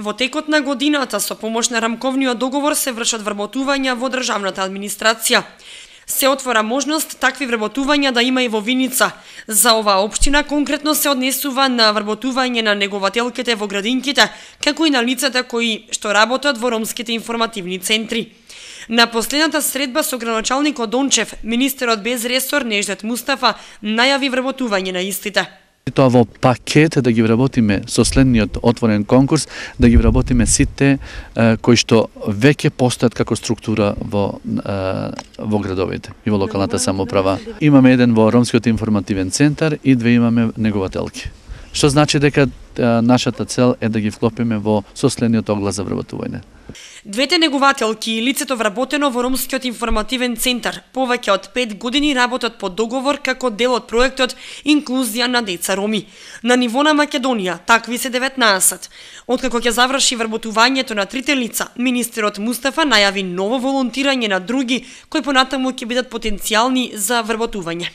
Во текот на годината со помош на рамковниот договор се вршат вработувања во државната администрација. Се отвора можност такви вработувања да има и во Виница. За оваа општина конкретно се однесува на вработување на негователките во градинките, како и на лицата кои што работат во ромските информативни центри. На последната средба со градоначалникот Дончев, министерот без ресор Неждет Мустафа најави вработување на истите. Тоа во пакет да ги вработиме со следниот отворен конкурс, да ги вработиме сите кои што веќе постојат како структура во градовите и во локалната самоуправа. Имаме еден во Ромскиот информативен центар и две имаме негователки. Што значи дека нашата цел е да ги вклопиме во соследниот оглас за вработување. Двете негователки и лицето вработено во Ромскиот информативен центар повеќе од 5 години работат по договор како дел од проектот Инклузија на деца роми. На ниво на Македонија такви се 19. Откако ќе заврши вработувањето на трите лица, министерот Мустафа најави ново волонтирање на други кои понатаму ќе бидат потенцијални за вработување.